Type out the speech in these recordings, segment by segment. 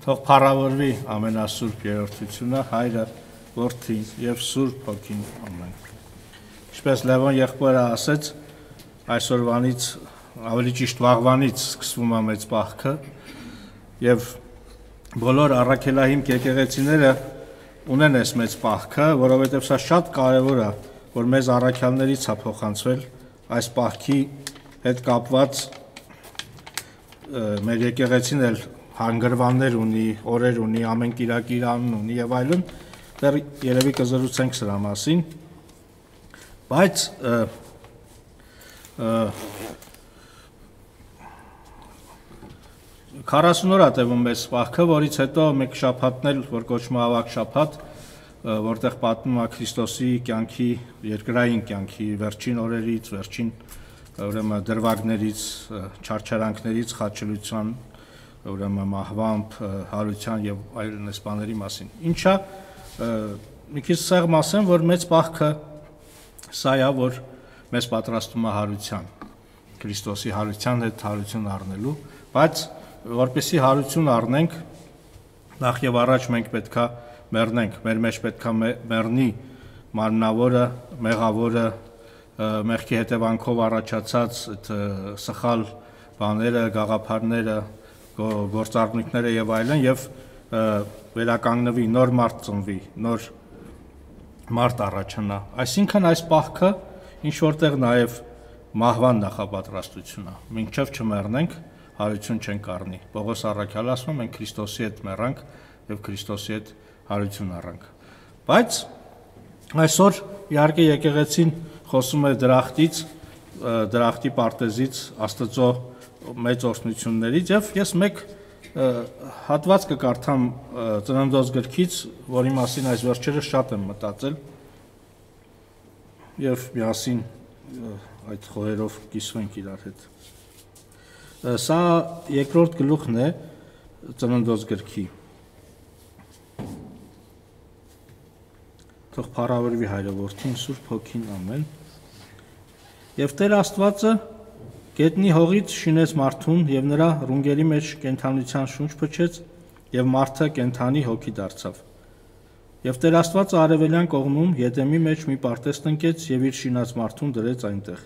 Թող փառավորվի ամենասուրբ երրորդությունը, Հայրը, Որդին եւ Սուրբ Հոգին, ամեն։ Ինչպես Լևոն եղբորը ասեց, այսօրվանից, ավելի ճիշտ վաղվանից սկսվում է մեծ պահքը եւ բոլոր առաքելահիմք եկեղեցիները ունեն այս մեծ պահքը, որովհետեւ սա շատ կարեւոր է, որ մեզ առաքյալներից է փոխանցվել այս պահքի հետ կապված մեր եկեղեցին էլ հանգրվաններ ունի, օրեր ունի, ամեն կիրակ իր անուն ունի եւ այլն, դեռ երևի կզրուցենք սրա մասին, բայց 40 օր է տևում մեծ պահքը, որից հետո մեկ շաբաթն էլ, որ կոչվում է ավագ շաբաթ, որտեղ պատմում է Քրիստոսի կյանքի, երկրային կյանքի վերջին օրերից, վերջին ուրեմն դրվագներից, չարչարանքներից, խաչելության, ուրեմն մահվամբ, հարության եւ այլն այս բաների մասին։ Ինչա մի քիչ սեղմ ասեմ, որ մեծ պահքը սա է, որ մեզ պատրաստում է հարության, Քրիստոսի հարության հետ հարություն առնելու, բայց որպեսզի հարություն առնենք, նախ եւ առաջ մենք պետքա մեռնենք, մեր մեջ պետքա մեռնի մարմնավորը, մեղավորը, մեղքի հետևանքով առաջացած այդ սխալ բաները, գաղափարները, գործառնույթները եւ այլն եւ վերականգնվի, նոր մարդ ծնվի, նոր մարդ առաջանա։ Այսինքն այս պահքը ինչ որտեղ նաեւ մահվան նախապատրաստությունն է։ Մինչեւ չմեռնենք, հարություն չենք առնի։ Պողոս առաքյալը ասում է, մենք Քրիստոսի հետ մեռանք եւ Քրիստոսի հետ հարություն առանք։ Բայց այսօր իհարկե եկեղեցին խոսում է դրախտից, դրախտի պարտեզից, Աստծո մեծ օրհնություններից եւ ես մեկ հատված կկարդամ Ծննդոց գրքից, որի մասին այս վերջերս շատ եմ մտածել եւ միասին այդ խոհերով կիսվենք իրար հետ։ Սա երկրորդ գլուխն է Ծննդոց գրքի։ Թող փառավորվի Հայրը, Որդին, Սուրբ Հոգին, ամեն։ Եվ Տեր Աստվածը գետնի հողից շինեց մարդուն եւ նրա ռունգերի մեջ կենթանության շունչ փչեց եւ մարդը կենթանի հոգի դարձավ։ Եվ Տեր Աստվածը արևելյան կողմում Եդեմի մեջ մի պարտեզ տնկեց եւ իր շինած մարդուն դրեց այնտեղ։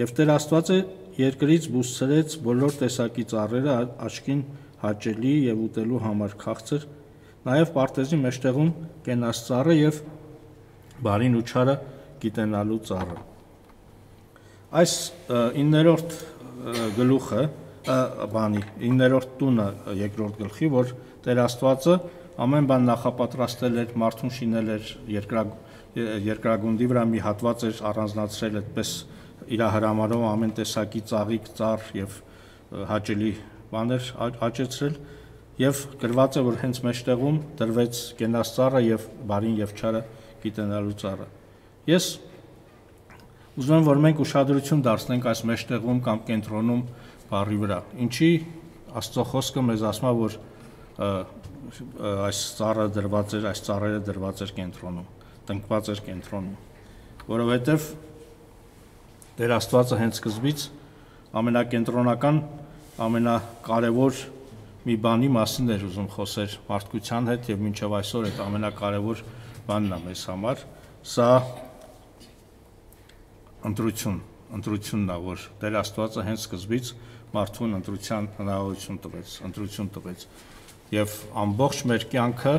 Եվ Տեր Աստվածը երկրից բուսցրեց բոլոր տեսակի ծառերը աչքին հաճելի եւ ուտելու համար քաղցր, նաեւ պարտեզի մեջտեղում կենաց ծառը եւ բարին ու չարը գիտենալու ծառը։ Այս 9-րդ գլուխը, 9-րդ տունը երկրորդ գլխի, որ Տեր Աստվածը ամեն բան նախապատրաստել էր, մարդուն շինել էր, երկրագնդի վրա մի հատված էր առանձնացրել, այդպես իր հրամարով ամեն տեսակի ծաղիկ, ծառ եւ հաճելի բաներ աճեցրել եւ գրված է, որ հենց մեջտեղում դրվեց կենաց ծառը եւ բարին եւ չարը գիտենալու ծառը։ Ես ուզում եմ, որ մենք ուշադրություն դարձնենք այս մեջտեղում կամ կենտրոնում բառի վրա։ Ինչի Աստծո խոսքը մեզ ասում է, որ այս ծառը դրված էր, այս ծառերը դրված էր կենտրոնում, տնկված էր կենտրոնում, որովհետև Տեր Աստվածը հենց սկզբից ամենակենտրոնական, ամենակարևոր մի բանի մասին էր ուզում խոսել մարդկության հետ եւ մինչեւ այսօր այդ ամենակարևոր բանն է մեզ համար, սա ընտրությունն է, որ Տեր Աստվածը հենց սկզբից մարդուն ընտրություն տվեց եւ ամբողջ մեր կյանքը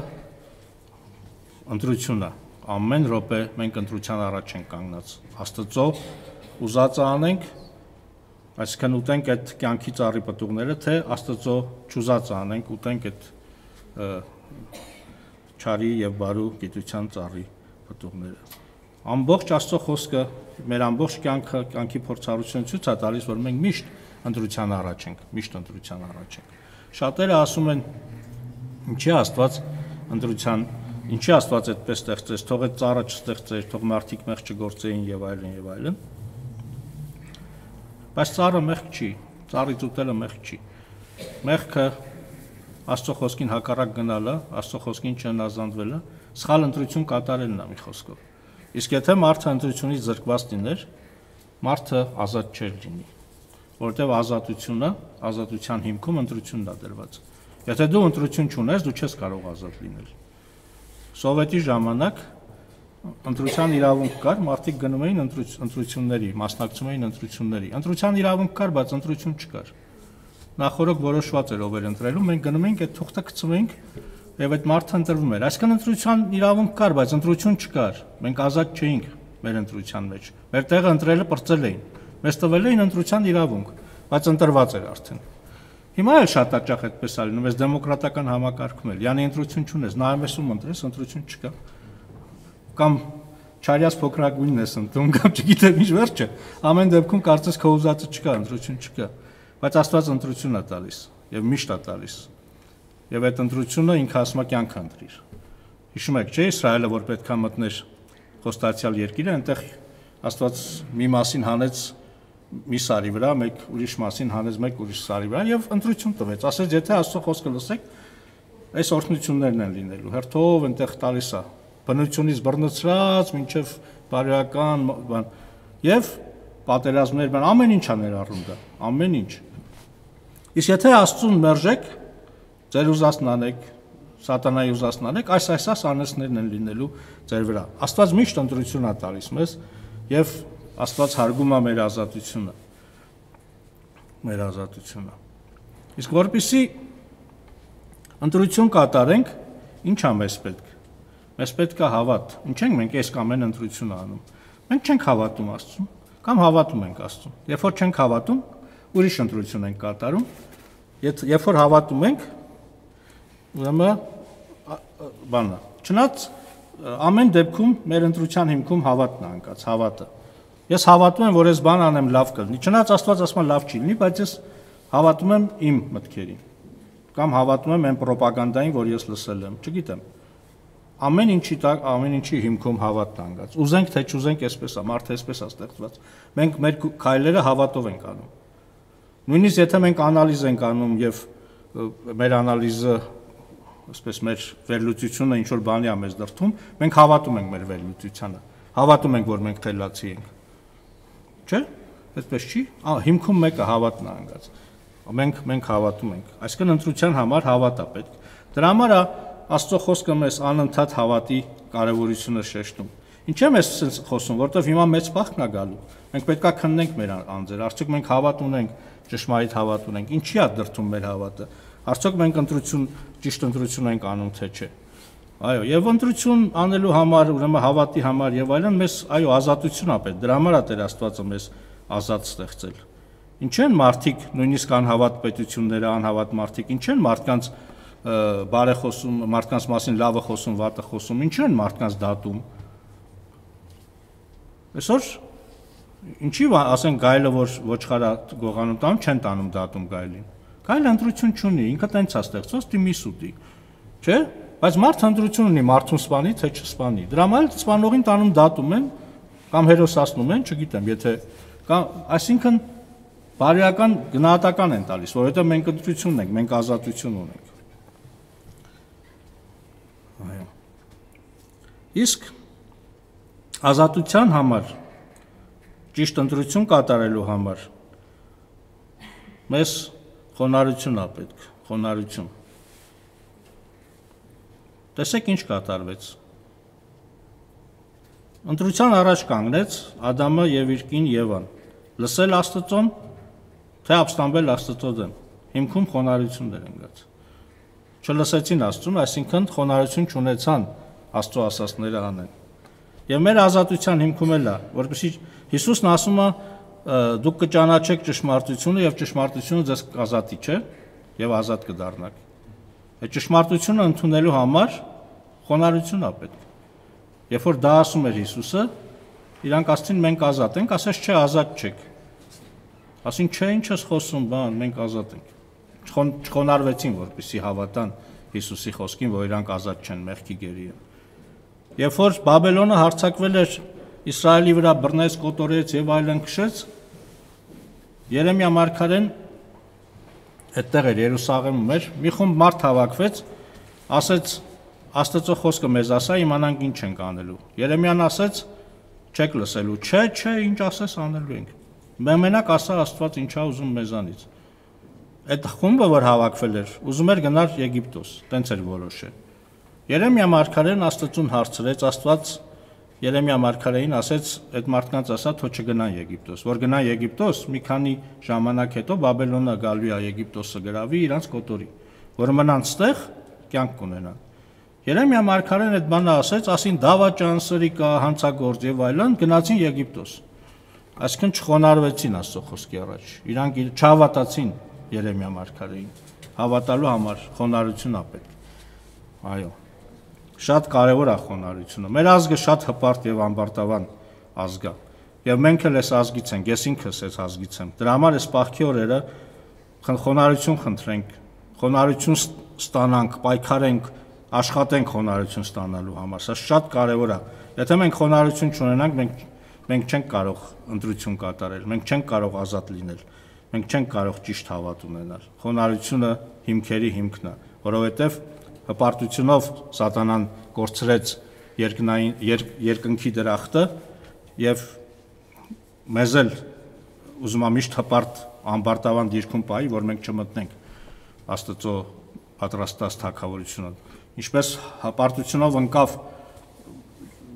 ընտրություն է, ամեն րոպե մենք ընտրության առաջ ենք կանգնած, Աստծո ուզածը անենք, այսինքն ուտենք այդ կյանքի ծառի պտուղները, թե Աստծո չուզածը անենք, ուտենք այդ չարի եւ բարու գիտության ծառի պտուղները։ Ամբողջ Աստծո խոսքը մեր ամբողջ կյանքի փորձառությունը ցույց է տալիս, որ մենք միշտ ընտրության առաջ ենք։ Շատերը ասում են, ինչի Աստված ընտրության, ինչի Աստված այդպես ստեղծեց, թող այդ ծառը չստեղծեր, թող մարդիկ մեղ չգործեին եւ այլն։ Բայց ծառը մեղք չի, ծառից ուտելը մեղք չի։ Մեղքը Աստծո խոսքին հակառակ գնալը, Աստծո խոսքին չհնազանդվելը, սխալ ընտրություն կատարելն է մի խոսքով։ Իսկ եթե մարդը ընտրությունից զրկված լիներ, մարդը ազատ չէր լինի, որովհետև ազատության հիմքում ընտրությունն է դրված։ Եթե դու ընտրություն չունես, դու չես կարող ազատ լինել։ Սովետի ժամանակ ընտրության իրավունք կար, մարդիկ գնում էին ընտրությունների, մասնակցում էին ընտրությունների։ Ընտրության իրավունք կար, բայց ընտրություն չկար։ Նախորդ որոշված էր ով էր ընտրելու, մենք գնում էինք այդ թուղթը գցում էինք եւ այդ մարդը ընտրվում էր։ Այսինքն ընտրության իրավունք կար, բայց ընտրություն չկար։ Մենք ազատ չէինք մեր ընտրության մեջ։ Մեր տեղը ընտրելը պրծել էին։ Մեզ տվել էին ընտրության իրավունք, բայց ընտրված էր արդեն։ Հիմա էլ շատ հաճախ այդպես է լինում, այս դեմոկրատական համակարգում էլ։ Յանի ընտրություն չունես, նայում ես ում ընտրես, ընտրություն չկա։ Կամ չարյաց փոքրագույնն ես ընտրում, կամ չգիտեմ ինչ վերջը։ Ամեն դեպքում կարծես քո ուզածը չկա, ընտրություն չկա։ Բայց Աստված ընտրություն է տալիս եւ միշտ է տալիս։ Եվ այդ ընտրությունը ինքը ասում է կյանք ընտրիր։ Հիշում եք, չէ՞, Իսրայելը որ պետք է մտներ խոստացյալ երկիրը, այնտեղ Աստված մի մասին հանեց մի սարի վրա, մեկ ուրիշ մասին հանեց մեկ ուրիշ սարի վրա եւ ընտրություն տվեց։ Ասեց, եթե Աստծո խոսքը լսեք, այս օրհնություններն են լինելու։ Հերթով այնտեղ տալիս է բնությունից բռնցրած, մինչև բարոյական բան եւ պատերազմներ, բան ամեն ինչ է ներառում դա, ամեն ինչ։ Իսկ եթե Աստծուն մերժեք, ձեր ուզածն անեք, սատանայի ուզածն անեք, այս անեծներն են լինելու ձեր վրա։ Աստված միշտ ընտրություն է տալիս մեզ եւ Աստված հարգում է մեր ազատությունը։ Մեր ազատությունը։ Իսկ որպեսզի ընտրություն կատարենք, ինչ է մեզ պետք։ Մեզ պետք է հավատ։ Ինչ ենք մենք այս կամ այն ընտրությունը անում։ Մենք չենք հավատում Աստծուն, կամ հավատում ենք Աստծուն։ Երբ որ չենք հավատում, ուրիշ ընտրություն ենք կատարում։ Երբ որ հավատում ենք, ուրեմն բանա։ Չնայած ամեն դեպքում մեր ընտրության հիմքում հավատն է անկած, հավատը։ Ես հավատում եմ, որ այս բան անեմ լավ կլինի։ Չնայած Աստված ասում է լավ չի լինի, բայց ես հավատում եմ իմ մտքերին։ Կամ հավատում եմ այն ռոպագանդային, որ ես լսել եմ, չգիտեմ։ Ամեն ինչի հիմքում հավատն է անկած։ Ուզենք թե չուզենք, այսպես է, մարդը այսպես է ստեղծված։ Մենք մեր քայլերը հավատով ենք անում։ Նույնիսկ եթե մենք անալիզ ենք անում եւ մեր անալիզը, այսպես մեր վերլուծությունը ինչ որ բանի է մեզ դրթում, մենք հավատում ենք մեր վերլուծությանը։ Հավատում ենք, որ մենք թելացի ենք։ Չէ՞։ Այդպես չի։ Հիմքում մեկը հավատն է անգած։ Մենք հավատում ենք։ Այսինքն ընտրության համար հավատ է պետք։ Դրա համար է Աստծո խոսքը մեզ անընդհատ հավատի կարևորությունը շեշտում։ Ինչ եմ ես ասենց խոսում, որովհետև հիմա մեծ փախն է գալու։ Մենք պետքա քննենք մեր անձերը, արդյոք մենք հավատ ունենք, ճշմարիտ հավատ ունենք, ինչի է դրթում մեր հավատը։ Արդյոք մենք ճիշտ ընտրություն ենք անում, թե չէ։ Այո, եւ ընտրություն անելու համար, ուրեմն հավատի համար եւ այլն մեզ այո ազատություն է պետք։ Դրա համար է Տեր Աստվածը մեզ ազատ ստեղծել։ Ինչ են մարդիկ, նույնիսկ անհավատ պետությունները, անհավատ մարդիկ, ինչ են մարդկանց բարեխոսում, մարդկանց մասին լավը խոսում, վատը խոսում, ինչ են մարդկանց դատում։ Այսօր ինչի ասեն գայլը որ ոչխարա գողանում տանում, չեն տանում դատում գայլին։ Գայլը ընտրություն չունի, ինքը տենց է ստեղծված, դիմի սուտի։ Չէ՞։ Բայց մարդը ընտրություն ունի, մարդուն սպանի, թե չսպանի։ Դրա համար սպանողին տանում դատում են կամ հերոսացնում են, չգիտեմ, եթե կամ այսինքն բարոյական գնահատական են տալիս, որովհետև մենք ընտրություն ունենք, մենք ազատություն ունենք։ Այո։ Իսկ ազատության համար, ճիշտ ընտրություն կատարելու համար մեզ խոնարհություն է պետք, խոնարհություն։ Տեսեք ինչ կատարվեց։ Ընտրության առաջ կանգնեց Ադամը եւ իր կին Եվան։ Լսել Աստծուն, թե ապստամբել Աստծո դեմ։ Հիմքում խոնարհություններ ընկած։ Չլսեցին Աստծուն, այսինքն խոնարհություն չունեցան Աստծո ասածները անեն։ Եվ մեր ազատության հիմքում էլ է, որովհետեւ Հիսուսն ասում է, դուք կճանաչեք ճշմարտությունը եւ ճշմարտությունը ձեզ կազատի, չէ՞, եւ ազատ կդառնաք։ Այդ ճշմարտությունը ընդունելու համար խոնարհություն է պետք։ Երբ որ դա ասում էր Հիսուսը, իրանք ասցին մենք ազատ ենք, ասես չէ, ազատ չեք։ Ասին չէ, ինչ ես խոսում, բան, մենք ազատ ենք։ Չխոնարհվեցին, որպեսզի հավատան Հիսուսի խոսքին, որ իրանք ազատ չեն, մեղքի գերի են։ Երբ որ Բաբելոնը հարձակվել էր Իսրայելի վրա, բռնեց, կոտորեց եւ այլն քշեց, Երեմիա մարգարեն այդտեղ էր Երուսաղեմում էր, մի խումբ մարդ հավաքվեց, ասեց Աստծո խոսքը մեզ ասա, իմանանք ինչ ենք անելու։ Երեմիան ասեց, չեք լսելու, չէ, ինչ ասես անելու ենք։ Մենակ ասա Աստված ինչա ուզում մեզանից։ այդ խումբը, որ հավաքվել էր, ուզում էր գնալ Եգիպտոս, տենց էր որոշել։ Երեմիա մարգարեն Աստծուն հարցրեց, Աստված Երեմիա մարգարեին ասեց, այդ մարդկանց ասա, թող չգնան Եգիպտոս, որ գնան Եգիպտոս, մի քանի ժամանակ հետո Բաբելոնը գալու է Եգիպտոսը գրավի, իրանց կոտորի, որ մնան ստեղ, կյանք կունենան։ Երեմիա մարգարեն այդ բանը ասեց, ասին դավաճան, սրիկա, հանցագործ եւ այլն, գնացին Եգիպտոս։ Այսինքն չխոնարհվեցին Աստծո խոսքի առաջ։ Իրանք չհավատացին Երեմիա մարգարեին։ Հավատալու համար խոնարհություն ապետ։ Այո։ Շատ կարևոր է խոնարհությունը։ Մեր ազգը շատ հպարտ եւ ամբարտավան ազգ է։ Եվ մենք էլ այս ազգից ենք, ես ինքս այս ազգից եմ։ Դրա համար այս պահքի օրերը խոնարհություն խնդրենք, խոնարհություն ստանանք, պայքարենք, աշխատենք խոնարհություն ստանալու համար։ Սա շատ կարևոր է։ Եթե մենք խոնարհություն չունենանք, մենք չենք կարող ընտրություն կատարել, մենք չենք կարող ազատ լինել, մենք չենք կարող ճիշտ հավատ ունենալ։ Խոնարհությունը հիմքերի հիմքն է, որովհետև հպարտությունով սատանան կորցրեց երկնքի դրախտը եւ մեզ էլ ուզում է միշտ հպարտ ամբարտավան դիրքում պահի, որ մենք չմտնենք Աստծո պատրաստած թագավորությունը։ Ինչպես հպարտությունով ընկավ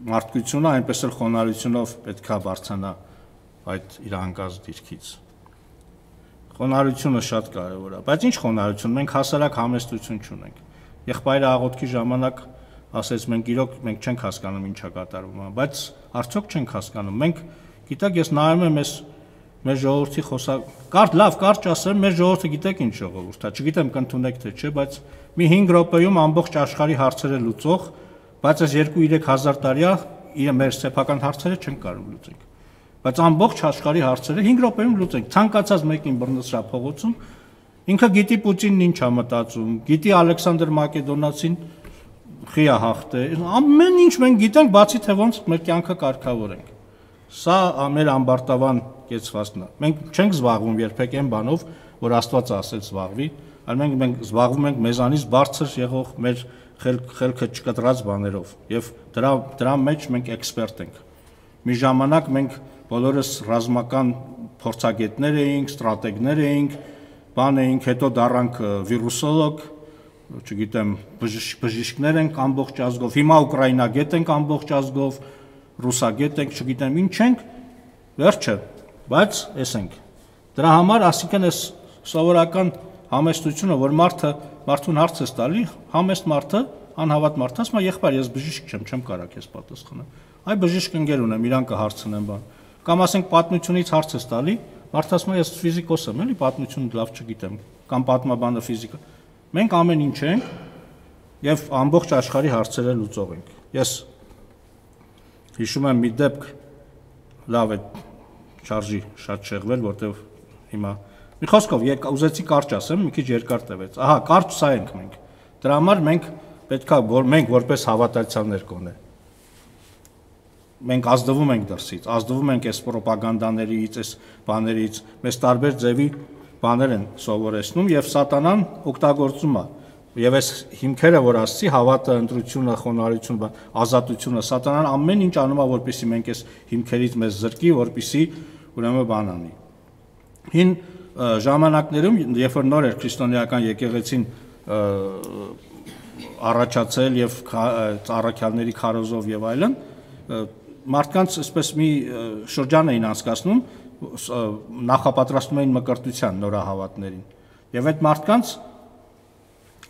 մարդկությունը, այնպես էլ խոնարհությունով պետքա բարձրանա այդ իր անկած դիրքից։ Խոնարհությունը շատ կարևոր է, բայց ինչ խոնարհություն, մենք հասարակ համեստություն չունենք։ Եղբայրը աղոթքի ժամանակ ասեց, մենք իրոք մենք չենք հասկանում ինչա կատարվում, բայց արդյոք չենք հասկանում։ Մենք գիտեք, ես նայում եմ մեր ժողովրդի կարճ ասեմ, մեր ժողովուրդը գիտեք ինչ ժողովուրդ է, չգիտեմ կընդունեք թե չէ, բայց մի 5 րոպեում ամբողջ աշխարհի հարցերը լուծող, բայց այս 2-3 հազար տարիա մեր սեփական հարցերը չեն կարող լուծենք։ Բայց ամբողջ աշխարհի հարցերը 5 րոպեում լուծենք։ Ցանկացած մեկին բռնցրա փողոցում ինքը գիտի Պուտինն ինչ է մտածում, գիտի Ալեքսանդր Մակեդոնացին խի է հաղթել, ամեն ինչ մենք գիտենք, բացի թե ոնց մեր կյանքը կարգավորենք։ Սա մեր ամբարտավան կեցվածքն է։ Մենք չենք զբաղվում երբեք այն բանով, որ Աստված ասել զբաղվի, այլ մենք զբաղվում ենք մեզանից բարձր եղող մեր խելքը չկտրած բաներով, եւ դրա մեջ մենք էքսպերտ ենք։ Մի ժամանակ մենք բոլորս ռազմական փորձագետներ էինք, ստրատեգներ էինք, բան էինք, հետո դառանք վիրուսոլոգ, չգիտեմ, բժիշկներ ենք ամբողջ ազգով, հիմա ուկրաինագետ ենք ամբողջ ազգով, ռուսագետ ենք, չգիտեմ ինչ ենք, վերջը, բայց էս ենք։ Դրա համար, ասիկան այս սովորական համեստությունը, որ մարդուն հարց է տալի, համեստ մարդը, անհավատ մարդը, ասում է, եղբայր, ես բժիշկ չեմ կարող քեզ պատասխանել։ Այ բժիշկ ընկեր ունեմ, իրան կհարցնեմ բան։ Կամ ասենք պատմությունից հարց է տալի, մարդը ասում է, ես ֆիզիկոս եմ, էլի պատմությունը լավ չգիտեմ, կամ պատմաբանը ֆիզիկա։ Մենք ամեն ինչ ենք եւ ամբողջ աշխարհի հարցերը լուծող ենք։ Ես հիշում եմ մի դեպք, լավ է շարժի շատ շեղվել, որտեվ հիմա մի խոսքով ուզեցի կարճ ասեմ, մի քիչ երկար տևեց։ Ահա, կարճ սա ենք մենք։ Դրա համար մենք պետքա որ մենք որպես հավատացյալներ կոնե։ Մենք ազդվում ենք դրսից, ազդվում ենք այս ռոպագանդաներից, այս բաներից, մեզ տարբեր ձևի բաներ են սովորեցնում եւ սատանան օգտագործում է։ Եվ այս հիմքերը, որ ասացի, հավատը, ընտրությունը, խոնարհությունը, ազատությունը, սատանան ամեն ինչ անում է, որպեսզի մենք այս հիմքերից մեզ զրկի, որպեսզի ուրեմն բան անի։ Հին ժամանակներում, երբ որ նոր էր քրիստոնեական եկեղեցին առաջացել եւ առաքյալների քարոզով եւ այլն, մարդկանց այսպես մի շրջան էին անցկացնում, նախապատրաստում էին մկրտության նորահավատներին։ Եվ այդ մարդկանց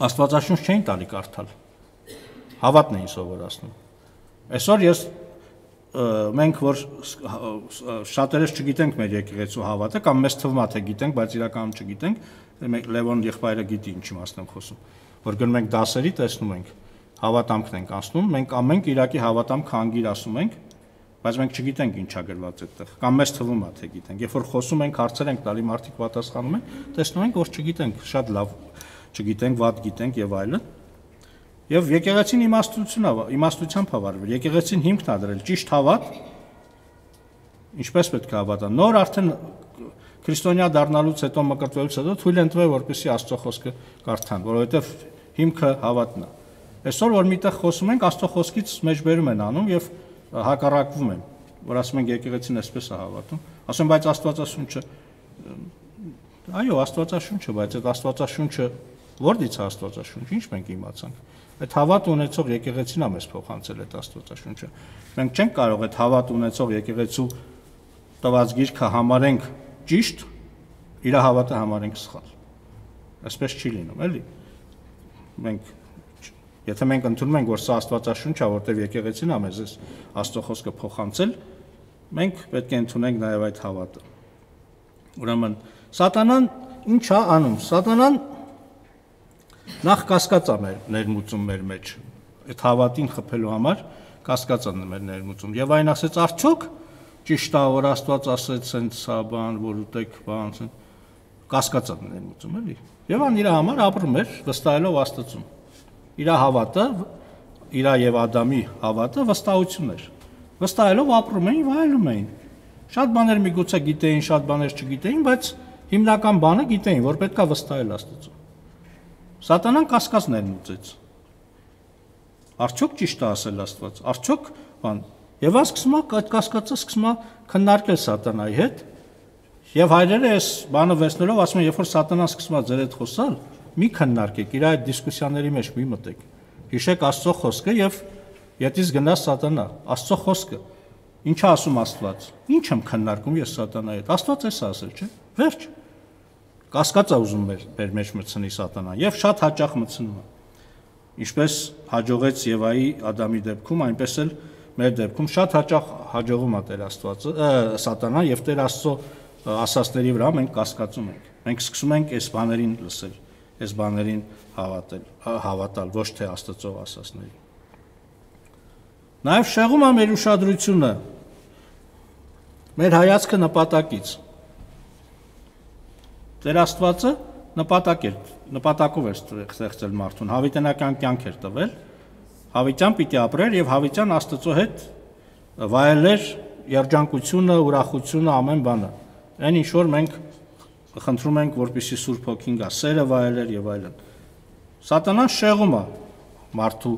Աստվածաշունչ չէին տալի կարդալ։ Հավատն էին սովորացնում։ Այսօր մենք որ շատերս չգիտենք մեր եկեղեցու հավատը կամ մեզ թվում է թե գիտենք, բայց իրականում չգիտենք, Լևոն եղբայրը գիտի ինչի մասն եմ խոսում, որ գնում ենք դասերի, տեսնում ենք, հավատամքն ենք անցնում, մենք ամեն Կիրակի հավատամք հանգիր ասում ենք, բայց մենք չգիտենք ինչա գրված այդտեղ, կամ մեզ թվում է թե գիտենք։ Երբ որ խոսում ենք, հարցեր ենք տալի, մարդիկ պատասխանում են, տեսնում ենք, որ չգիտենք, շատ լավ չգիտենք, վատ գիտենք եւ այլն։ Եվ եկեղեցին իմաստությամբ հավարվել։ Եկեղեցին հիմքն է դրել ճիշտ հավատ, ինչպես պետք է հավատան։ Նոր արդեն քրիստոնյա դառնալուց հետո մկրտվելուց հետո թույլ են տվել, որպեսզի Աստծո խոսքը կարդան, որովհետեւ հիմքը հավատն է։ Այսօր որ միտեղ խոսում ենք, Աստծո խոսքից մեջբերում են անում եւ հակառակվում են, որ ասում ենք եկեղեցին այսպես է հավատում։ Ասում բայց Աստվածաշունչը Այո, Աստվածաշունչը, բայց այդ Աստվածաշունչը որտից է Աստվածաշունչը, ինչ մենք իմացանք։ Այդ հավատ ունեցող եկեղեցին է մեզ փոխանցել այդ Աստվածաշունչը։ Մենք չենք կարող այդ հավատ ունեցող եկեղեցու տված գիրքը համարենք ճիշտ, իր հավատը համարենք սխալ։ Այսպես չի լինում, էլի։ Եթե մենք ընդունում ենք, որ սա Աստվածաշունչ է, որտեղ եկեղեցին է մեզ Աստծո խոսքը փոխանցել, մենք պետք է ընդունենք նաև այդ հավատը։ Ուրեմն Սատանան ինչ է անում։ Սատանան նախ կասկած է ներմուծում մեր մեջ, այդ հավատին խփելու համար կասկած է մեր ներմուծում։ Եվ այն ասեց, արդյոք ճիշտ է, որ Աստված ասեց սենց սա բան, որ ուտեք բան, կասկած է ներմուծում, էլի։ Եվ ան իր համար ապրում էր վստահելով Աստծուն։ Իր հավատը, իր եւ Ադամի հավատը վստահություն էր։ Վստահելով ապրում էին, վայելում էին։ Շատ բաներ միգուցե գիտեին, շատ բաներ չգիտեին, բայց հիմնական բանը գիտեին, որ պետք է վստահել Աստծուն։ Սատանան կասկած ներմուծեց։ Արդյոք ճիշտ է ասել Աստված։ Արդյոք բան։ Եվ ասկսում է այդ կասկածը սկսում է քննարկել Սատանայի հետ։ Եվ հայրերը այս բանը վերցնելով ասում են, երբ որ Սատանան սկսում է ձեր հետ խոսալ, մի քննարկեք, իր այդ դիսկուսիաների մեջ մի մտեք։ Հիշեք Աստծո խոսքը եւ յետից գնաց Սատանա։ Աստծո խոսքը։ Ինչ է ասում Աստված։ Ինչ եմ քննարկում ես Սատանայի հետ։ Աստված էս ասել, չէ՞։ Վերջ։ Կասկած է ուզում մեր մեջ մտցնի Սատանան եւ շատ հաճախ մտցնում է։ Ինչպես հաջողեց Եվայի Ադամի դեպքում, այնպես էլ մեր դեպքում շատ հաճախ հաջողում է Տեր Աստվածը, Սատանան եւ Տեր Աստծո ասածների վրա մենք կասկածում ենք։ Մենք սկսում ենք այս բաներին լսել, այս բաներին հավատալ, ոչ թե Աստծո ասածներին։ Նաև շեղում է մեր ուշադրությունը, մեր հայացքը նպատակից։ Տեր Աստվածը նպատակով էր ստեղծել մարդուն, հավիտենական կյանք էր տվել, հավիտյան պիտի ապրեր եւ հավիտյան Աստծո հետ վայելեր երջանկությունը, ուրախությունը, ամեն բանը։ Այն ինչ որ մենք խնդրում ենք, որպեսզի Սուրբ Հոգին գա, սերը վայելեր եւ այլն։ Սատանան շեղում է մարդու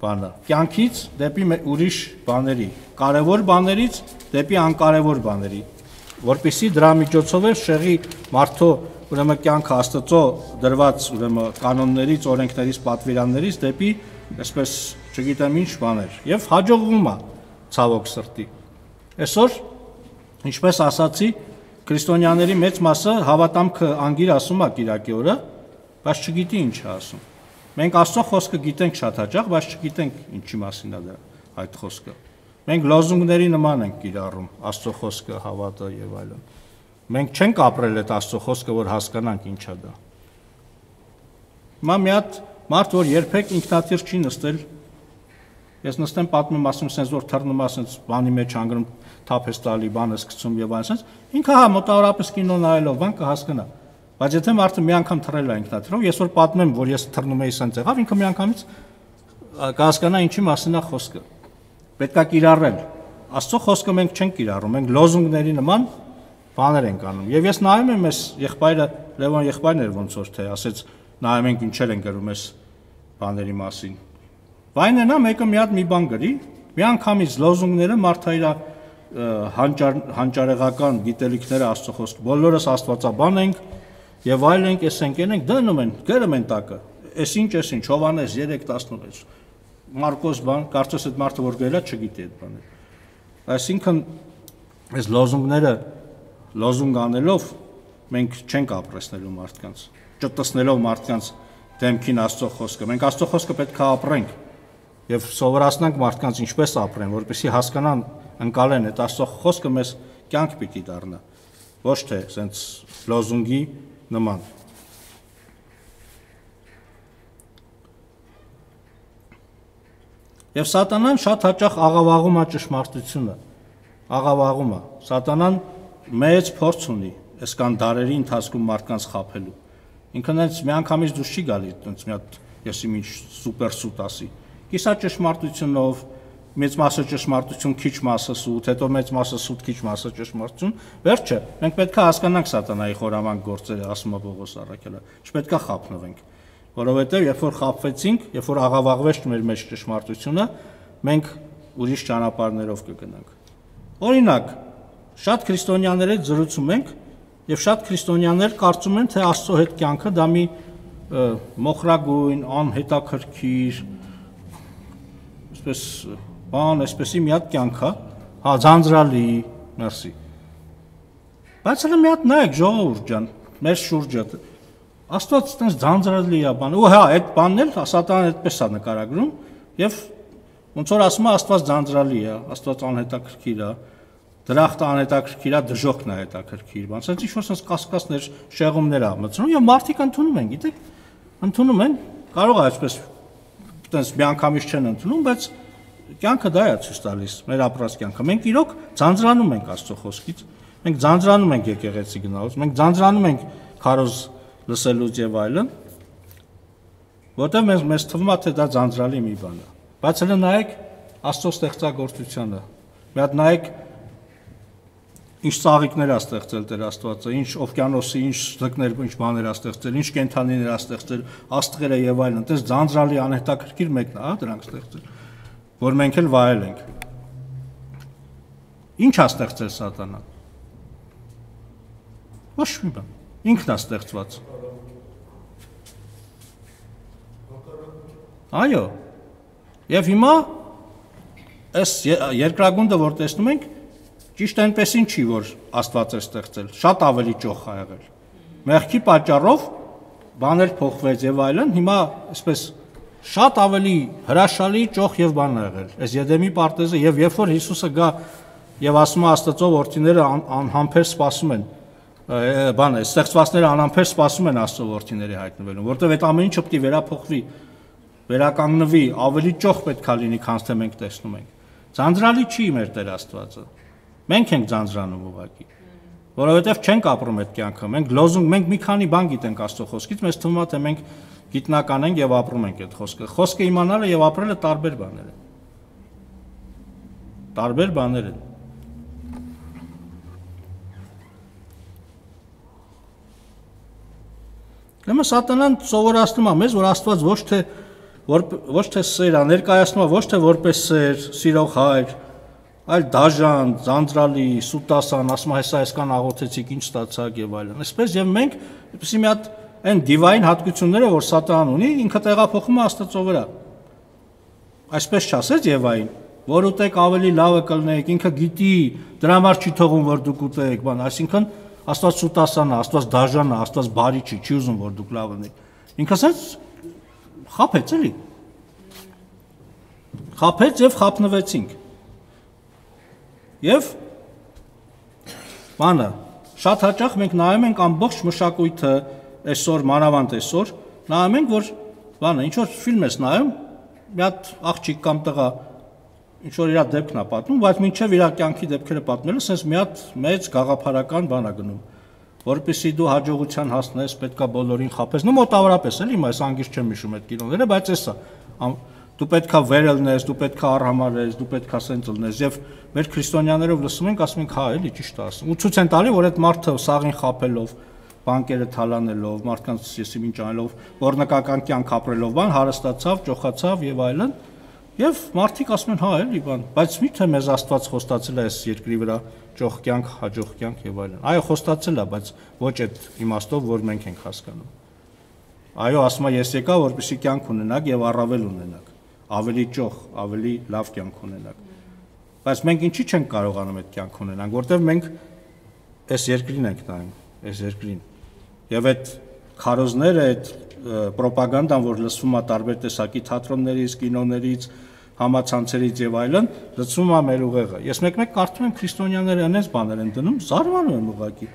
բանը, կյանքից դեպի ուրիշ բաների, կարևոր բաներից դեպի անկարևոր բաների, որպեսզի դրա միջոցով էլ շեղի մարդու ուրեմն կյանքը Աստծո դրված ուրեմն կանոններից, օրենքներից, պատվիրաններից դեպի, այսպես չգիտեմ ինչ բաներ, եւ հաջողվում է ցավոք սրտի։ Այսօր, ինչպես ասացի, քրիստոնյաների մեծ մասը հավատամքը անգիր ասում է Կիրակի օրը, բայց չգիտի ինչ է ասում։ Մենք Աստծո խոսքը գիտենք շատ հաճախ, բայց չգիտենք ինչի մասին է դա այդ խոսքը։ Մենք լոզունգների նման ենք կիրառում Աստծո խոսքը, հավատը եւ այլն։ Մենք չենք ապրել այդ Աստծո խոսքը, որ հասկանանք ինչ է դա։ Հիմա մի հատ մարդ, որ երբեք ինքնաթիռ չի նստել, ես նստեմ պատմում ասում sense որ թռնում ասենց բանի մեջ անգրում թափես տալի, բանը սկսում եւ այլն sense, ինքը հա մոտավորապես կինո նայելով բան կհասկանա։ Բայց եթե մարդը մի անգամ թռել է ինքնաթիռով, ես որ պատմեմ, որ ես թռնում էի sense եղավ, ինքը մի անգամից կհասկանա ինչի մասին է խոսքը։ Պետք է կիրառել։ Աստծո խոսքը մենք չենք կիրառում, մենք լոզունգների նման բաներ ենք անում։ Եվ ես նայում եմ այս եղբայրը, Լևոն եղբայրն էր ոնց որ թե ասեց, նայում ենք ինչեր են գրում այս բաների մասին։ Վայնենա մեկը մի հատ մի բան գրի, մի անգամից լոզունգները մարդը իր հանճարեղական գիտելիքները Աստծո խոսքը, բոլորս Աստվածաբան ենք եւ այլ ենք, էս ենք դնում են, գրում են տակը։ Էս ինչ, Հովհաննես 3:16 Մարկոս բան, կարծես այդ մարդը որ գրել է չգիտի այդ բանը։ Այսինքն այս լոզունգները լոզունգ անելով մենք չենք ապրեցնելու մարդկանց, ճտտեցնելով մարդկանց դեմքին Աստծո խոսքը։ Մենք Աստծո խոսքը պետք է ապրենք եւ սովորացնենք մարդկանց ինչպես ապրեն, որպեսզի հասկանան, ընկալեն այդ Աստծո խոսքը մեզ կյանք պիտի դառնա, ոչ թե սենց լոզունգի նման։ Եվ Սատանան շատ հաճախ աղավաղում է ճշմարտությունը, աղավաղում է։ Սատանան մեծ փորձ ունի այս կան դարերի ընթացքում մարդկանց խաբելու։ Ինքն հենց մի անգամից դուրս չի գալի, այնց մի հատ եսի ինչ սուպեր սուտ ասի։ Կիսա ճշմարտությունով, մեծ մասը ճշմարտություն, քիչ մասը սուտ, հետո մեծ մասը սուտ, քիչ մասը ճշմարտություն։ Վերջը, մենք պետք է հասկանանք Սատանայի խորամանկ գործերը, ասում է Պողոս առաքյալը։ Չպետք է խաբնվենք, որովհետև երբ որ խաբվեցինք, երբ որ աղավաղվեց մեր մեջ ճշմարտությունը, մենք ուրիշ ճանապարհներով կգնանք։ Օրինակ, շատ քրիստոնյաներ հետ զրուցում ենք եւ շատ քրիստոնյաներ կարծում են, թե Աստծո հետ կյանքը դա մի մոխրագույն, անհետաքրքիր, այսպես բան, այսպեսի մի հատ կյանք է, հա, ձանձրալի, մերսի։ Բայց հələ մի հատ նայեք, ժողովուրդ ջան, մեր շուրջը Աստված այդպես ձանձրալի է բան, ու հա, այդ բանն էլ Սատանան այդպես է նկարագրում, եւ ոնց որ ասում է Աստված ձանձրալի է, Աստված անհետաքրքիր է, դրախտը անհետաքրքիր է, դժոխքն է հետաքրքիր, բան, ասած ինչ որ sense կասկածներ, շեղումներ ա մտցնում, եւ մարդիկ ընդունում են, գիտեք, ընդունում են, կարող է այսպես այդպես միանգամից չեն ընդունում, բայց կյանքը դա է ցույց տալիս, մեր ապրած կյանքը։ Մենք իրոք ձանձրանում ենք Աստծո խոսքից, մենք ձանձրանում ենք եկեղեցի գնալուց, մենք ձանձրանում ենք քարոզ լսելուց եւ այլն, որտեղ մեզ թվում է թե դա ձանձրալի մի բան է։ Բայց հələ նայեք Աստծո ստեղծագործությանը։ Մի հատ նայեք ինչ ծաղիկներ է ստեղծել Տեր Աստվածը, ինչ օվկիանոսի, ինչ ձկներ, ինչ բաներ է ստեղծել, ինչ կենդանիներ է ստեղծել, աստղերը եւ այլն։ Այդպես ձանձրալի անհետաքրքիր մեկն է, հա, դրանք ստեղծել, որ մենք էլ վայել ենք։ Ինչ է ստեղծել Սատանան։ Ոչ մի բան։ Ինքն է ստեղծված։ Այո։ Եվ հիմա այս երկրագունդը, որ տեսնում ենք, ճիշտ այնպեսին չի, որ Աստված է ստեղծել, շատ ավելի ճոխ է եղել։ Մեղքի պատճառով բաներ փոխվեց եւ այլն, հիմա այսպես շատ ավելի հրաշալի ճոխ եւ բան է եղել։ Այս Եդեմի պարտեզը եւ երբ որ Հիսուսը գա եւ ասում է Աստծո որդիները անհամբեր սպասում են, բան է, ստեղծվածները անհամբեր սպասում են Աստծո որդիների հայտնվելուն, որտեղ այդ ամեն ինչը պետք է վերափոխվի, վերականգնվի, ավելի ճոխ պետք է լինի, քան թե մենք տեսնում ենք։ Ձանձրալի չի մեր Տեր Աստվածը։ Մենք ենք ձանձրանում ուղղակի, որովհետև չենք ապրում այդ կյանքը։ Մենք լոզունգ, մենք մի քանի բան գիտենք Աստծո խոսքից, մեզ թվում է թե մենք գիտնական ենք եւ ապրում ենք այդ խոսքը։ Խոսքը իմանալը եւ ապրելը տարբեր բաներ են։ Տարբեր բաներ են։ Ուրեմն Սատանան սովորացնում է մեզ, որ Աստված ոչ թե սեր է, ներկայացնում է ոչ թե որպես սեր, սիրող հայր, այլ դաժան, ձանձրալի, սուտասան, ասում է հեսա այսքան աղոթեցիք, ինչ ստացաք եւ այլն։ Այսպես եւ մենք այդպեսի մի հատ այն դիվային հատկությունները, որ Սատանան ունի, ինքը տեղափոխում է Աստծո վրա։ Այսպես չասեց Եվային, որ ուտեք ավելի լավը կլնեք, ինքը գիտի, դրա համար չի թողում, որ դուք ուտեք, բան, այսինքն Աստված սուտասան է, Աստված դաժան է, Աստված բարի չի ուզում, որ դուք լավ ունեք։ Ինքը ասեց խափեց էլի։ Խափեց եւ խափնվեցինք։ Եվ բանը շատ հաճախ մենք նայում ենք ամբողջ մշակույթը այսօր մանավանդ այսօր նայում ենք որ բանը ինչ որ ֆիլմ ես նայում մի հատ աղջիկ կամ տղա ինչ որ իր դեպքն է պատմում բայց մինչև իր կյանքի դեպքերը պատմելը sense մի հատ մեծ գաղափարական բան է գնում որպեսզի դու հաջողության հասնես պետքա բոլորին խափես նո մոտավորապես էլի հիմա այս անգիր չեմ հիշում այդ կինոները բայց էսա դու պետքա վերելնես, դու պետքա առհամարես, դու պետքա սենց լնես եւ մեր քրիստոնյաներով լսում ենք, ասում ենք, հա, էլի ճիշտ է ասում։ Ու ցույց են տալի, որ այդ մարդը սաղին խափելով, բանկերը թալանելով, մարդկանց եսի ինչ անելով, օրնական կյանք ապրելով, բան հարստացավ, ճոխացավ եւ այլն։ Եվ մարդիկ ասում են, հա, էլի բան, բայց միթե մեզ Աստված խոստացել է այս երկրի վրա ճոխ կյանք, հաջող կյանք եւ այլն։ Այո, խոստացել է, բայց ոչ այդ իմաստով, որ մենք ենք հասկանում։ Այո, ասում է, ես եկա, որպեսզի կյանք ունենաք եւ առավել ունենաք ավելի ճոխ, ավելի լավ կյանք ունենանք։ Բայց մենք ինչի չենք կարողանում այդ կյանք ունենանք, որտեղ մենք այս երկրին ենք նայում, այս երկրին։ Եվ այդ քարոզները, այդ ռոպագանդան, որ լսվում է տարբեր տեսակի թատրոններից, կինոներից, համացանցերից եւ այլն, լսվում է մեր ուղեղը։ Ես մեկ-մեկ կարդում եմ քրիստոնյաները այնպես բաներ են դնում, զարմանում եմ ուղղակի։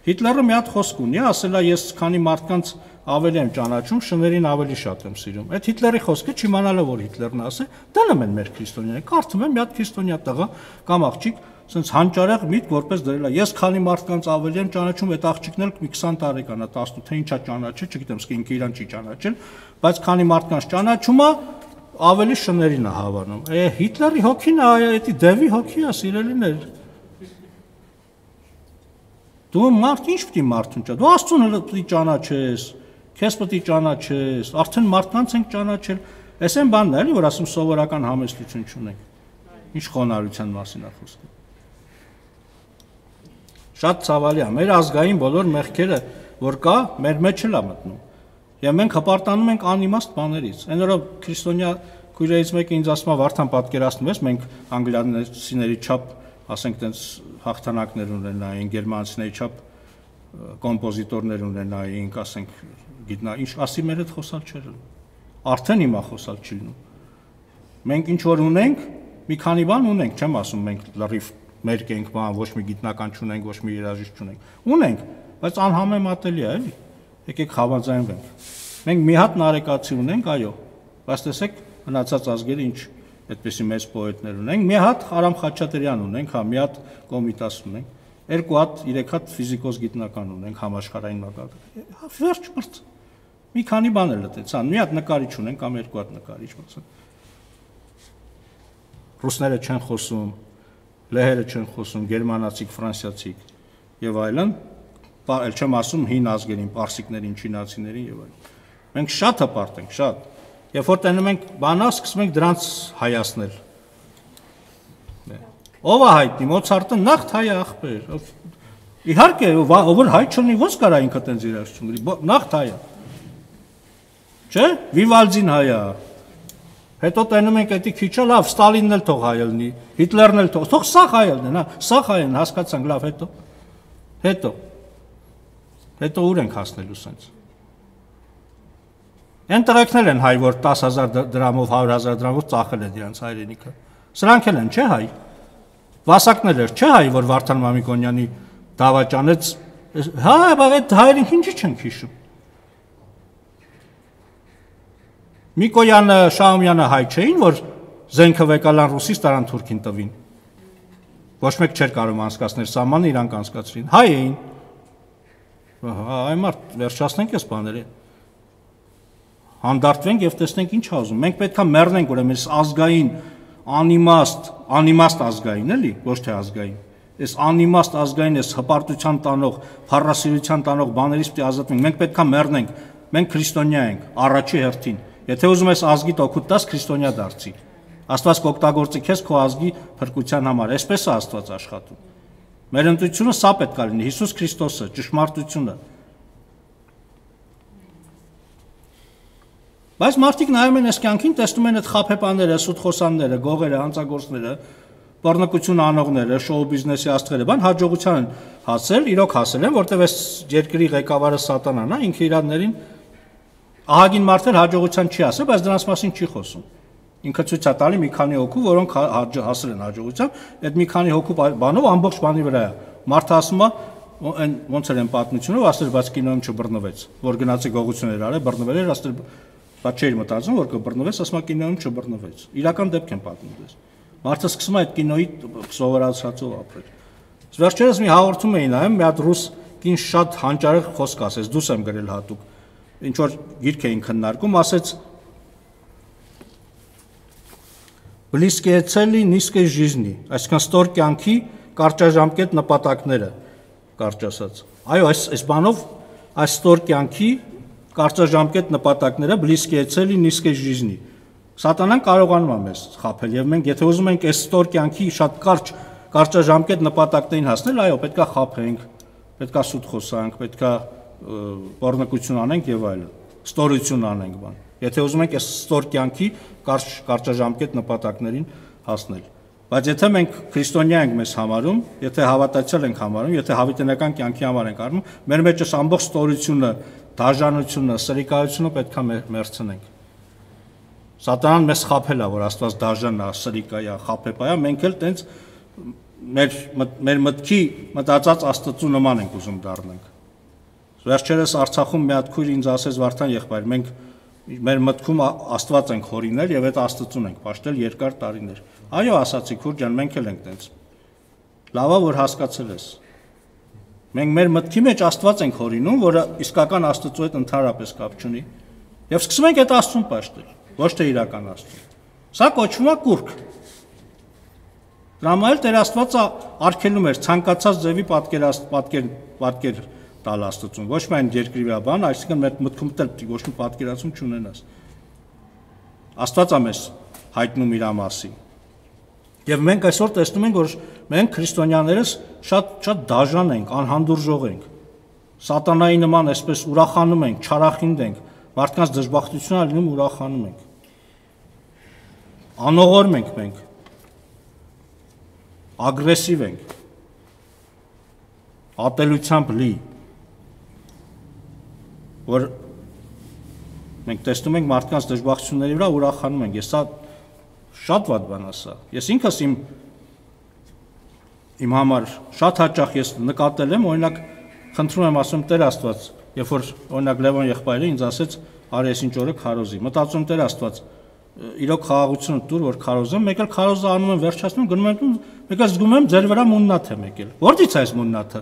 Հիտլերը մի հատ խոսք ունի, ասել է ես քանի մարդկանց ավելի եմ ճանաչում, շներին ավելի շատ եմ սիրում։ Այդ Հիտլերի խոսքը չիմանալը որ Հիտլերն ասել, դնում են մեր քրիստոնյաները։ Կարդում եմ մի հատ քրիստոնյա տղա կամ աղջիկ, ասենց հանճարեղ միտք որպես դրել է։ Ես քանի մարդկանց ավելի եմ ճանաչում, այդ աղջիկն էլ մի 20 տարեկան է, 18, թե ինչա ճանաչել, չգիտեմ, սկի ինքը իրան չի ճանաչել, բայց քանի մարդկանց ճանաչում է, ավելի շներին է հավանում։ Հիտլերի հոգին է, այդի դևի հոգի է, սիրելիներ։ Դու մարդ ինչ պիտի մարդուն ճա։ Դու Աստծուն պետք է ճանաչես, քեզ պետք է ճանաչես, արդեն մարդկանց ենք ճանաչել։ Էս այն բանն է, էլի, որ ասում սովորական համեստություն չունենք։ Ինչ խոնարհության մասին է խոսքը։ Շատ ցավալի է, մեր ազգային բոլոր մեղքերը, որ կա, մեր մեջ էլ է մտնում։ Եվ մենք հպարտանում ենք անիմաստ բաներից։ Այն օրը քրիստոնյա քույրերից մեկը ինձ ասում է, Վարդան, պատկերացնում ես, մենք անգլիացիների չափ, ասենք, տենց հաղթանակներ ունենայինք, գերմանացիների չափ կոմպոզիտորներ ունենայինք, ասենք, գիտնա, ինչ ասի մեր հետ խոսալ չէր լինում։ Արդեն հիմա խոսալ չի լինում։ Մենք ինչ որ ունենք, մի քանի բան ունենք, չեմ ասում մենք լրիվ մերկ ենք, բան, ոչ մի գիտնական չունենք, ոչ մի երաժիշտ չունենք։ Ունենք, բայց անհամեմատելի է, էլի։ Եկեք համաձայնվենք։ Մենք մի հատ նարեկացի ունենք, այո, բայց տեսեք, մնացած ազգերը ինչ այդպեսի մեծ պոետներ ունենք, մի հատ Արամ Խաչատրյան ունենք, հա, մի հատ Կոմիտաս ունենք, երկու հատ, 3 հատ ֆիզիկոս գիտնական ունենք համաշխարհային մակարդակի։ Վերջ մրց։ Մի քանի բան էլ լտեցան, մի հատ նկարիչ ունենք կամ երկու հատ նկարիչ, ասենք։ Ռուսները չեն խոսում, լեհերը չեն խոսում, գերմանացիք, ֆրանսիացիք եւ այլն, այլ չեմ ասում հին ազգերին, պարսիկներին, չինացիներին եւ այլն։ Մենք շատ հպարտ ենք, շատ։ Երբ որ տենում ենք բանա, սկսում ենք դրանց հայացնել։ Ով է հայտնի, Մոցարտը նախ հայ է ախպեր։ Իհարկե, ով հայ չունի, ո՞նց կարա ինքը տենց երաժշտություն գրի, նախ հայ է։ Չէ՞, Վիվալդին հայ է։ Հետո տենում ենք էդի քիչը, լավ, Ստալինն էլ թող հայ լինի, Հիտլերն էլ թող սա հայ լինեն, հա, սա հայ են, հասկացանք, լավ, հետո ուր ենք հասնելու սենց։ Այն տղեկներ են հայ, որ 10,000 դրամով, 100,000 դրամով ծախել է դրանց հայրենիքը։ Սրանք էլ են, չէ հայ։ Վասակներ էր, չէ հայ, որ Վարդան Մամիկոնյանի դավաճանեց, հա, բայց այդ հայրենիք ինչի չեն հիշում։ Միկոյանը, Շահումյանը հայ չէին, որ զենքը վեկալան ռուսից տարան թուրքին տվին։ Ոչ մեկ չէր կարող անցկացնել սահմանը, իրանք անցկացրին։ Հայ էին։ Այ մարդ, վերջացնենք այս բաները։ Հանդարտվենք եւ տեսնենք ինչ ուզում։ Մենք պետքա մեռնենք ուրեմն այս ազգային անիմաստ ազգային, էլի, ոչ թե ազգային։ Այս անիմաստ ազգային, այս հպարտության տանող, փառասիրության տանող բաներից պետք է ազատվենք։ Մենք պետքա մեռնենք։ Մենք քրիստոնյա ենք, առաջի հերթին։ Եթե ուզում ես ազգիդ օգուտ տաս, քրիստոնյա դարձի։ Աստված կօգտագործի քեզ քո ազգի փրկության համար։ Այսպես է Աստված աշխատում։ Մեր ընտրությունը սա պետք է լինի, Հիսուս Քրիստոսը, ճշմարտությունը։ Բայց մարդիկ նայում են այս կյանքին, տեսնում են այդ խաբեբաները, սուտխոսանները, գողերը, հանցագործները, բռնկություն անողները, շոու բիզնեսի աստղերը, բան հաջողության են հասել, իրոք հասել են, որտեղ այս երկրի ղեկավարը սատանան է, ինքը իրաններին ահագին մարդեր հաջողության չի ասել, բայց դրանց մասին չի խոսում։ Ինքը ցույց է տալի մի քանի հոգու, որոնք հասել են հաջողության, այդ մի քանի հոգու բանով ամբողջ բանի վրա է։ Մարդը ասում է, այն ոնց էր այն պատմությունով, ասել, բայց կինոյում չբռնվեց, որ գնացի գողություններ արել, բռնվել էր, ասել, բայց չէր մտածում, որ կբռնվեց, ասում է կինոյում չբռնվեց։ Իրական դեպք են պատմում դες։ Մարդը սկսում է այդ կինոյի սովորացածով ապրել։ Վերջերս մի հաղորդում էին նայում, մի հատ ռուս կին շատ հանճարեղ խոսք ասեց, դուս եմ գրել հատուկ։ Ինչ որ գիրք էին քննարկում, ասեց Близкие цели низкой жизни, այսինքն ստոր կյանքի կարճաժամկետ նպատակները, կարճ ասած։ Այո, այս բանով այս ստոր կյանքի կարճաժամկետ նպատակները близкие цели низкой жизни։ Սատանան կարողանում է մեզ խաբել եւ մենք եթե ուզում ենք այս ստոր կյանքի շատ կարճաժամկետ նպատակներին հասնել, այո, պետքա խաբենք, պետքա սուտ խոսանք, պետքա բռնկություն անենք եւ այլն, ստորություն անենք բան։ Եթե ուզում ենք այս ստոր կյանքի կարճաժամկետ նպատակներին հասնել։ Բայց եթե մենք քրիստոնյա ենք մեզ համարում, եթե հավատացյալ ենք համարում, եթե հավիտենական կյանքի համար ենք առնում, մեր մեջ այս ամբողջ ստորությունը, դաժանությունը, սրիկայությունը պետքա մերցնենք։ Սատանան մեզ խաբել է, որ Աստված դաժան է, սրիկա է, խաբեբա է, մենք էլ տենց մեր մտքի մտածած Աստծու նման ենք ուզում դառնանք։ Վերջերս Արցախում մի հատ քույր ինձ ասեց Վարդան եղբայր, մենք մեր մտքում Աստված ենք հորինել եւ այդ Աստծուն ենք պաշտել երկար տարիներ։ Այո, ասացի քուր ջան, մենք էլ ենք տենց։ Լավա որ հասկացել ես։ Մենք մեր մտքի մեջ Աստված ենք հորինում, որը իսկական Աստծու հետ ընդհանրապես կապ չունի, եւ սկսում ենք այդ Աստծուն պաշտել, ոչ թե իրական Աստծուն։ Սա կոչվում է կուրք։ Դրամայել Տեր Աստվածը արգելում էր ցանկացած ձևի պատկեր տալ Աստծուն, ոչ միայն երկրի վրա բան, այսինքն մեր մտքում դեռ ոչ մի պատկերացում չունենաս։ Աստվածը մեզ հայտնում իր մասին։ Եվ մենք այսօր տեսնում ենք, որ մենք քրիստոնյաներս շատ դաժան ենք, անհանդուրժող ենք։ Սատանայի նման այսպես ուրախանում ենք, չարախինդ ենք, մարդկանց դժբախտությունը լինում ուրախանում ենք։ Անողորմ ենք մենք, ագրեսիվ ենք, ատելությամբ լի, որ մենք տեսնում ենք մարդկանց դժբախտությունների վրա ուրախանում ենք։ Ես սա շատ վատ բան է սա։ Ես ինքս իմ համար շատ հաճախ ես նկատել եմ, օրինակ խնդրում եմ ասում Տեր Աստված, երբ որ օրինակ Լևոն եղբայրը ինձ ասեց արի ես ինչ օրը քարոզի, մտածում Տեր Աստված, իրոք խաղաղությունը տուր, որ քարոզեմ, մեկ էլ քարոզը անում եմ, վերջացնում, գնում եմ տուն, մեկ էլ զգում եմ ձեր վրա մուննաթ եմ եկել։ Որտից է այս մուննաթը։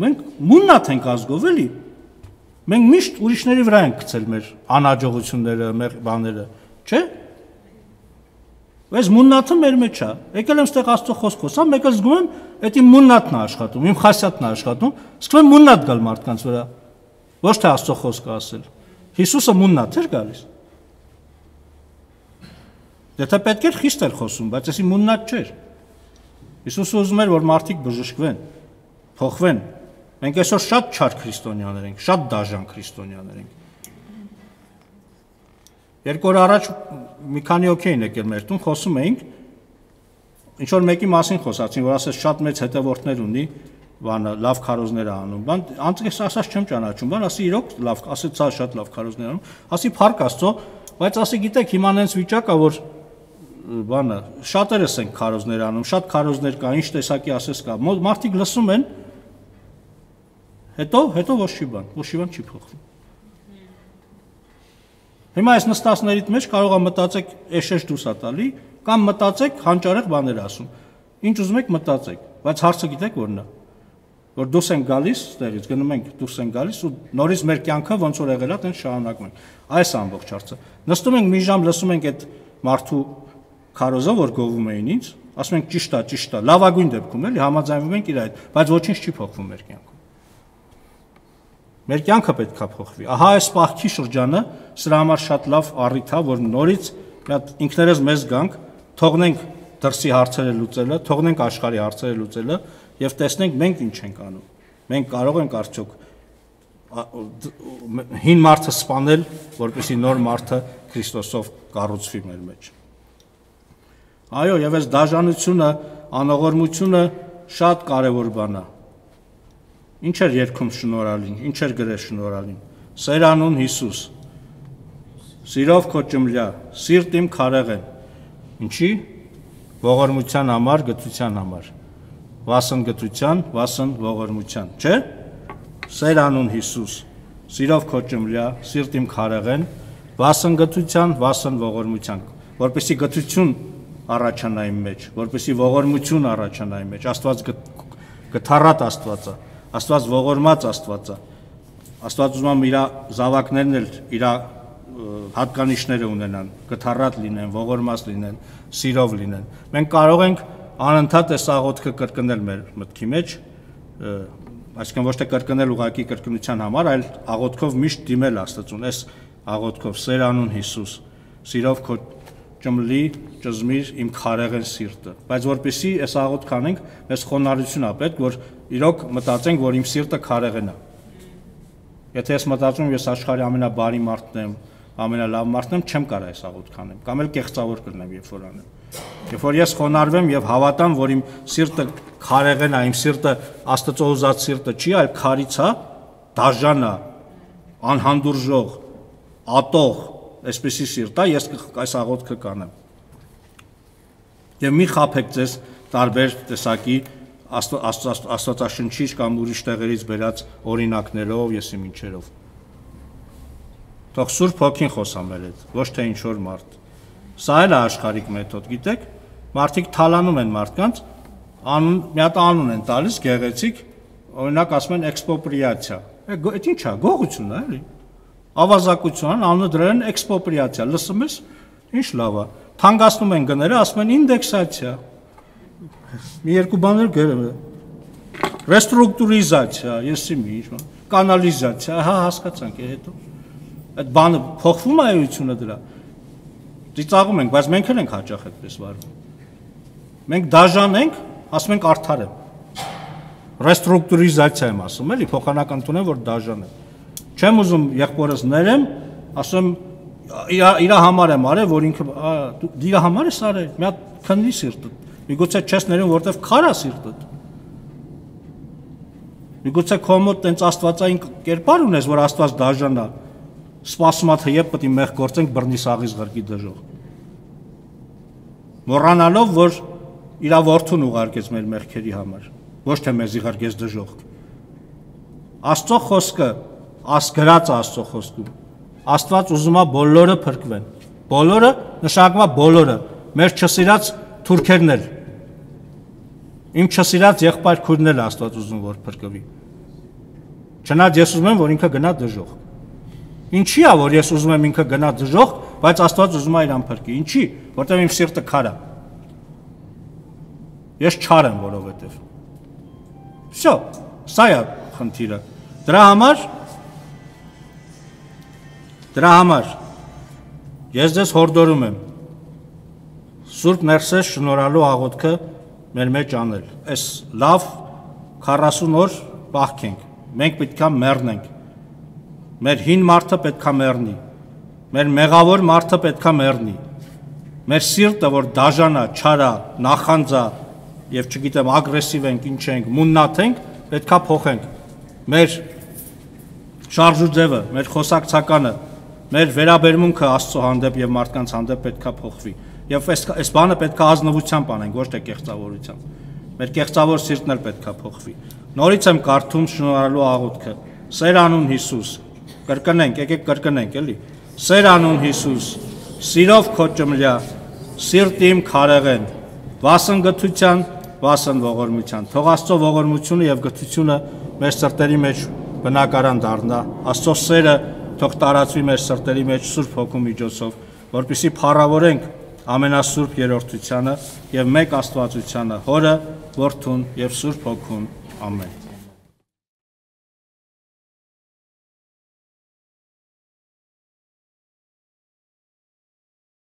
Մենք մուննաթ ենք ազգով, էլի։ Մենք միշտ ուրիշների վրա ենք գցել մեր անհաջողությունները, մեր բաները, չէ՞։ Այս մուննաթը մեր մեջ է։ Եկել եմ ստեղ Աստծո խոսք խոսամ, մեկ էլ զգում եմ, այդ իմ մուննաթն է աշխատում, իմ խասյաթն է աշխատում, սկսում եմ մուննաթ գալ մարդկանց վրա։ Ոչ թե Աստծո խոսքը ասել։ Հիսուսը մուննաթ էր գալիս։ Եթե պետք էր խիստ էր խոսում, բայց էսի մուննաթ չէր։ Հիսուսը ուզում էր, որ մարդիկ բժշկվեն, փոխվեն։ Մենք այսօր շատ չար քրիստոնյաներ ենք, շատ դաժան քրիստոնյաներ ենք։ Երկու օր առաջ մի քանի հոգի էին եկել մեր տուն, խոսում էինք, ինչ որ մեկի մասին խոսացին, որ ասես շատ մեծ հետևորդներ ունի, բանը լավ քարոզներ է անում։ Բան անցկես ասած չեմ ճանաչում, բան ասի իրոք լավ, ասեց սա շատ լավ քարոզներ անում, ասի փառք Աստծո, բայց ասի գիտեք հիմա այնց վիճակ է, որ բանը շատերս են քարոզներ անում, շատ քարոզներ կա, ինչ տեսակի ասես կա։ Մարդիկ լսում են, հետո ոչ մի բան չի փոխվում։ Հիմա այս նստածներից մեջ կարող է մտածեք էշեշ դուրս է տալի, կամ մտածեք հանճարեղ բաներ ասում։ Ինչ ուզում եք մտածեք, բայց հարցը գիտեք որն է, որ դուրս են գալիս, ստեղից գնում ենք, դուրս են գալիս ու նորից մեր կյանքը ոնց որ եղել է, տենց շարունակում ենք։ Այս ամբողջ հարցը։ Նստում ենք մի ժամ, լսում ենք այդ մարդու քարոզը, որ գովում էին ինձ, ասում ենք ճիշտ է, լավագույն դեպքում էլի համաձայնվում ենք իր այդ, բայց ոչինչ չի փոխվում մեր կյանքում։ Մեր կյանքը պետք է փոխվի։ Ահա այս պահքի շրջանը սրա համար շատ լավ առիթ է, որ նորից ինքներս մեզ գանք, թողնենք դրսի հարցերը լուծելը, թողնենք աշխարհի հարցերը լուծելը եւ տեսնենք մենք ինչ ենք անում։ Մենք կարող ենք արդյոք հին մարդը սպանել, որպեսզի նոր մարդը Քրիստոսով կառուցվի մեր մեջ։ Այո, եւ այս դաժանությունը, անողորմությունը շատ կարեւոր բան է։ Ինչ էր երգում շնորհալին, ինչ էր գրել շնորհալին։ Սերանուն Հիսուս։ Սիրով քո ճմլյա, սիրտ իմ քարեղեն։ Ինչի։ Ողորմության համար, գթության համար։ Վասն գթության, վասն ողորմության, չէ՞։ Սերանուն Հիսուս։ Սիրով քո ճմլյա, սիրտ իմ քարեղեն, վասն գթության, վասն ողորմության, որպեսզի գթություն առաջանա իմ մեջ, որպեսզի ողորմություն առաջանա իմ մեջ։ Աստված գթառատ Աստված է։ Աստված ողորմած Աստված է։ Աստված ուզում է իր զավակներն էլ իր հատկանիշները ունենան, գթառատ լինեն, ողորմած լինեն, սիրով լինեն։ Մենք կարող ենք անընդհատ այս աղոթքը կրկնել մեր մտքի մեջ, այսինքն ոչ թե կրկնել ուղղակի կրկնության համար, այլ աղոթքով միշտ դիմել Աստծուն, այս աղոթքով Սերանուն Հիսուս, սիրով քո ճմլի ճզմիր իմ քարեղեն սիրտը, բայց որպեսզի այս աղոթք անենք, մեզ խոնարհություն է պետք, որ իրոք մտածենք, որ իմ սիրտը քարեղեն է։ Եթե ես մտածում եմ, ես աշխարհի ամենաբարի մարդն եմ, ամենալավ մարդն եմ, չեմ կարող այս աղոթք անեմ, կամ էլ կեղծավոր կլինեմ, երբ որ անեմ։ Երբ որ ես խոնարհվեմ եւ հավատամ, որ իմ սիրտը քարեղեն է, իմ սիրտը Աստծո ուզած սիրտը չի, այլ քարից է, դաժան է, անհանդուրժող, ատող, այսպեսի սիրտ է, ես այս աղոթքը կանեմ։ Եվ մի խաբեք ձեզ տարբեր տեսակի Աստվածաշնչից կամ ուրիշ տեղերից բերած օրինակներով, եսի մինչերով։ Թող Սուրբ Հոգին խոսա մեր հետ, ոչ թե ինչ որ մարդ։ Սա էլ է աշխարհիկ մեթոդ, գիտեք, մարդիկ թալանում են մարդկանց, մի հատ անուն են տալիս գեղեցիկ, օրինակ ասում են էքսպոպրիացիա։ Այդ ի՞նչ է, գողություն է, էլի։ Ավազակություն, անունը դրել են էքսպոպրիացիա, լսում ես, ինչ լավ է։ Թանկացնում են գները, ասում են ինդեքսացիա։ Մի երկու բաներ գրել է։ Ռեստրուկտուրիզացիա, եսի մի ինչ, կանալիզացիա, հա հասկացանք, հետո։ Այդ բանը փոխվում է էությունը դրա։ Ծիծաղում ենք, բայց մենք էլ ենք հաճախ այդպես վարվում։ Մենք դաժան ենք, ասում ենք արդար եմ։ Ռեստրուկտուրիզացիա եմ ասում, էլի, փոխանակ ընդունեմ, որ դաժան եմ։ Չեմ ուզում եղբորս ներեմ, ասում իր համար եմ արել, որ ինքը իր համար ես արել, մի հատ քննի սիրտդ։ Միգուցե չես ներում, որտեվ քար է սիրտդ։ Միգուցե քո մոտ տենց աստվածային կերպար ունես, որ Աստված դաժան է։ Սպասում է, թե երբ պետք է մեղ գործենք բռնի սաղից ղրկի դժող։ Մոռանալով, որ իր որդուն ուղարկեց մեր մեղքերի համար, ոչ թե մեզի ղրկեց դժող։ Աստծո խոսքը, գրած Աստծո խոսքում, Աստված ուզում է բոլորը փրկվեն։ Բոլորը նշանակում է բոլորը, մեր չսիրած թուրքերն էլ։ Իմ չսիրած եղբայր քույրն էլ Աստված ուզում որ փրկվի։ Չնայած ես ուզում եմ, որ ինքը գնա դժող։ Ինչի՞ է, որ ես ուզում եմ ինքը գնա դժող, բայց Աստված ուզում է իրան փրկի։ Ինչի՞, որտեղ իմ սիրտը քար է։ Ես չար եմ, որովհետև։ Всё, սա է խնդիրը։ Դրա համար ես ձեզ հորդորում եմ Սուրբ Ներսես շնորհալու աղոթքը մեր մեջ անել։ Այս լավ 40 օր պահքենք։ Մենք պետքա մեռնենք։ Մեր հին մարդը պետքա մեռնի։ Մեր մեղավոր մարդը պետքա մեռնի։ Մեր սիրտը, որ դաժանա, չարա, նախանձա եւ չգիտեմ ագրեսիվ ենք, ինչ ենք, մուննաթ ենք, պետքա փոխենք։ Մեր շարժուձևը, մեր խոսակցականը, մեր վերաբերմունքը Աստծո հանդեպ եւ մարդկանց հանդեպ պետքա փոխվի։ Եվ այս բանը պետքա ազնվությամբ անենք, ոչ թե կեղծավորությամբ։ Մեր կեղծավոր սիրտն էլ պետքա փոխվի։ Նորից եմ կարդում շնորհալու աղոթքը։ Սեր անուն Հիսուս, կրկնենք, եկեք կրկնենք, էլի։ Սեր անուն Հիսուս, սիրով քո ճմլյա, սիրտ իմ քարեղեն, վասն գթության, վասն ողորմության։ Թող Աստծո ողորմությունը եւ գթությունը մեր սրտերի մեջ բնակարան դառնա։ Աստծո սերը թող տարածվի մեր սրտերի մեջ Սուրբ Հոգու միջոցով, որպեսզի փառավորենք ամենասուրբ երրորդությանը եւ մեկ Աստվածությանը, Հորը, Որդուն եւ Սուրբ Հոգուն։ Ամեն։